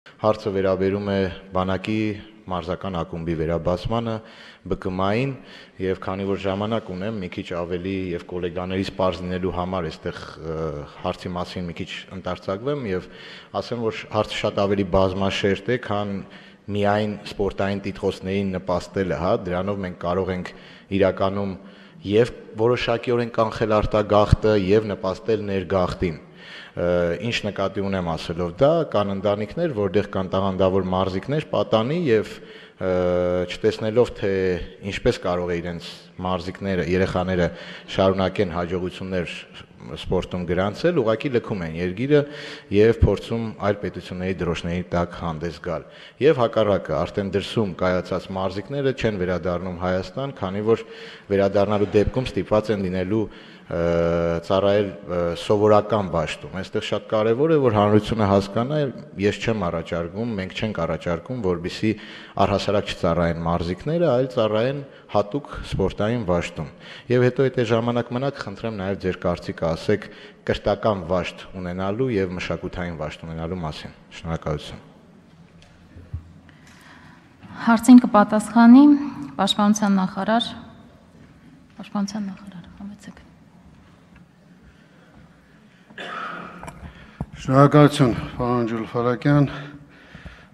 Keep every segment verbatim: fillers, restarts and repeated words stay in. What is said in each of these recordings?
Հարցը վերաբերում է բանակի մարզական ակումբի վերաբացմանը, B K M-ին եւ քանի որ ժամանակ ունեմ մի քիչ ավելի եւ գոլեգաներից պարզ լինելու համար այստեղ հարցի մասին մի քիչ ընդարձակվեմ եւ ասեմ, որ հարցը շատ ավելի բազմաշերտ է, քան միայն սպորտային տիտղոսներին նպաստելը, հա, դրանով մենք կարող ենք իրականում եւ որոշակիորեն կանխել արտագաղթը եւ նպաստել ներգաղթին։ Ինչ նկատի ունեմ ասելով դա, կան ընտանիքներ, որտեղ կան տաղանդավոր մարզիկներ, պատանի եւ չտեսնելով թե ինչպես կարող է իրենց մարզիկները, երեխաները շարունակեն հաջողություններ սպորտում գրանցել, ուղղակի լքում են երկիրը եւ փորձում այլ պետությունների դրոշների տակ հանդես գալ։ Եվ հակառակը, արդեն դրսում կայացած մարզիկները չեն վերադառնում Հայաստան, քանի որ վերադառնալու դեպքում ստիպված են լինելու ծառայել սովորական դաշտում։ Այստեղ շատ կարևոր է, որ հանրությունը հասկանա, ես չեմ առաջարկում, մենք չենք առաջարկում, որպեսզի առհասարակ չծառայեն մարզիկները, այլ ծառայեն հատուկ սպորտային դաշտում։ Եվ հետո եթե ժամանակ մնաք, խնդրեմ նաև ձեր կարծիքը ասեք կրթական դաշտ ունենալու եւ մշակութային դաշտ ունենալու մասին։ Շնորհակալություն։ Հարցին կպատասխանի Պաշտպանության նախարար, Պաշտպանության նախարար, համեցեք։ Շնորհակալություն, պարոն Ջուլֆարակյան,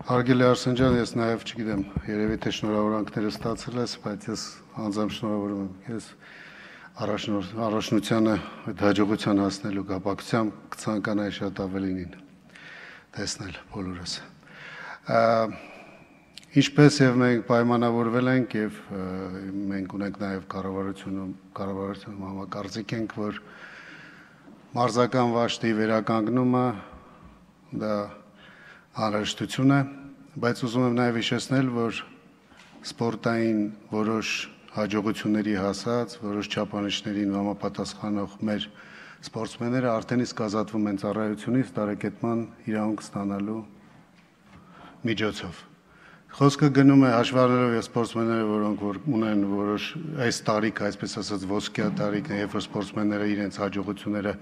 հարգելի Արսեն ջան, ես նաև չգիտեմ, երևի թե շնորհավորանքները ստացել ես, բայց ես անձամբ շնորհավորում եմ ես առաջնությանը այդ հաջողության հասնելու կապակցությամբ կցանկանայի շատ ավելին տեսնել բոլորս։ Ինչպես եւ մենք պայմանավորվել ենք եւ մենք ունենք նաև կառավարությունում կառավարությունում համակարծիք ենք, որ մարզական վաշտի վերականգնումը դա անհրաժեշտություն է, բայց ուզում եմ նաև հիշեցնել, որ սպորտային որոշ հաջողությունների հասած, որոշ չափանիշներին համապատասխանող մեր սպորտսմենները արդեն իսկ ազատվում են ծառայությունից տարեկետման իրավունք ստանալու միջոցով։ Խոսքը գնում է հաշվառելով եւ սպորտսմենները, որոնք որ ունեն որոշ այս տարիք, այսպես ասած ոսկյա տարիքն է, երբ որ սպորտսմենները իրենց հաջողությունները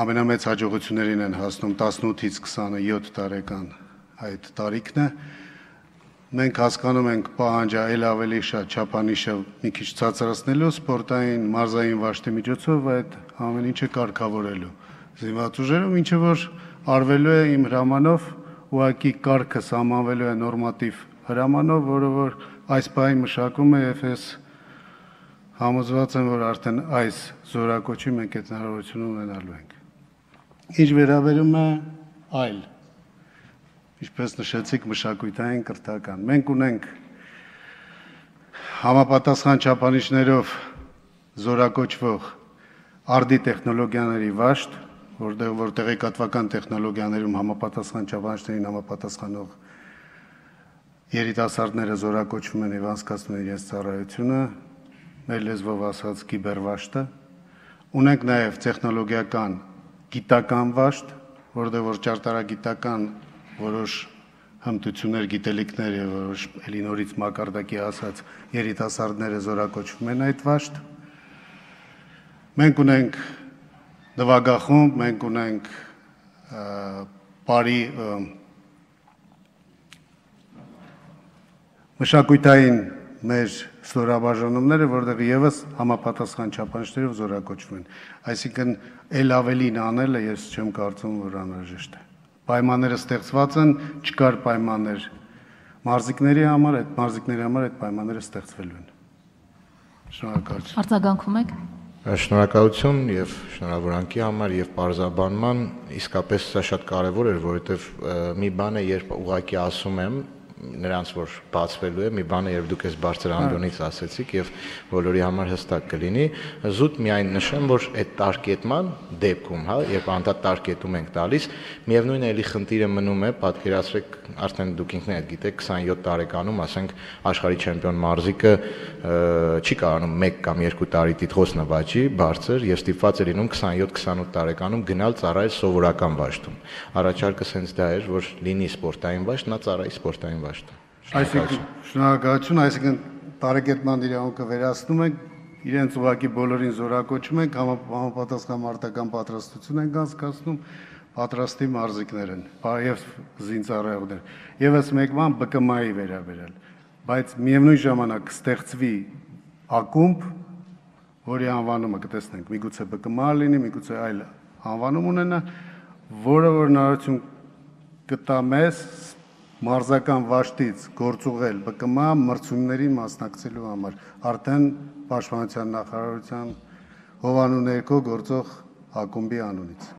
ամենամեծ հաջողություններին են հասնում տասնութից քսանյոթ տարեկան այդ տարիքն է։ Մենք հասկանում ենք պահանջը այլ ավելի շատ չափանիշը մի քիչ ցածրացնելու սպորտային մարզային վաշտի միջոցով այդ ամեն ինչը կարգավորելու զինված ուժերով, ինչը որ արվելու է իմ հրամանով ուղղակի կարգը սահմանվելու է նորմատիվ հրամանով, որը որ այս պահին մշակում է եւ ես համոզված եմ, որ արդեն այս զորակոչի մենք այդ հնարավորությունը ունենալու ենք։ Ինչ վերաբերում է այլ, ինչպես նշեցիք, մշակութային կրթական, մենք ունենք համապատասխան չափանիշներով զորակոչվող արդի տեխնոլոգիաների վաշտ, որտեղ որ տեղեկատվական տեխնոլոգիաներում համապատասխան չափանիշներին համապատասխանող երիտասարդները զորակոչվում են եւ անցկացնում են իրենց ծառայությունը, մեր լեզվով ասած կիբերվաշտը, ունենք նաեւ տեխնոլոգիական գիտական վաշտ, որտեղ որ ճարտարագիտական որոշ հմտություններ, գիտելիքներ եւ որոշ էլի նորից մակարդակի ասած երիտասարդները զորակոչվում են այդ վաշտ։ Մենք ունենք նվագախումբ, մենք ունենք բարի մշակութային մեր ստորաբաժանումները, որտեղ եւս համապատասխան չափանիշներով զորակոչվում են։ Այսինքն ել ավելին անելը ես չեմ կարծում, որ անհրաժեշտ է։ Պայմանները ստեղծված են, չկար պայմաններ մարզիկների համար, այդ մարզիկների համար այդ պայմանները ստեղծվելու են։ Շնորհակալություն։ Արձագանքում եք։ Շնորհակալություն եւ շնորհավորանքի համար եւ պարզաբանման, իսկապես սա շատ կարեւոր էր, որովհետեւ մի բան է, երբ ուղղակի ասում եմ նրանց որ բացվելու է, մի բան է, երբ դուք այս բարձր ամբիոնից ասեցիք եւ բոլորի համար հստակ կլինի, զուտ միայն նշեմ, որ այդ տարկետման դեպքում, հա, երբ անդադ տարկետում ենք տալիս, միևնույն է, էլի խնդիրը մնում է, պատկերացրեք, արդեն դուք ինքներդ գիտեք, քսանյոթ տարեկանում, ասենք, աշխարհի չեմպիոն մարզիկը չի կարողանում մեկ կամ երկու տարի տիտղոս նվաճի, բարձր եւ ստիպված է լինում քսանյոթ քսանութ տարեկանում գնալ ծառայել սովորական դաշտում։ Առաջարկը հենց դա էր, որ լինի սպորտային դաշտ, նա ծառայի սպորտային դաշտում։ Այսինքն շնորհակալություն, այսինքն տարեկետման իրավունքը վերացնում ենք, իրենց ուղղակի բոլորին զորակոչում ենք, համապատասխան մարտական պատրաստություն ենք անցկացնում, պատրաստի մարզիկներ են, եւ զինծառայողներ։ Եվս մեկ բան B K M-ի վերաբերյալ, բայց միևնույն ժամանակ ստեղծվի ակումբ, որի անվանումը կտեսնենք, միգուցե B K M լինի, միգուցե այլ անվանում ունենա, որը որ հնարավորություն կտա մեզ մարզական վաշտից գործուղել B K M մրցումներին մասնակցելու համար, արդեն Պաշտպանության նախարարության հովանու ներքո գործող ակումբի անունից։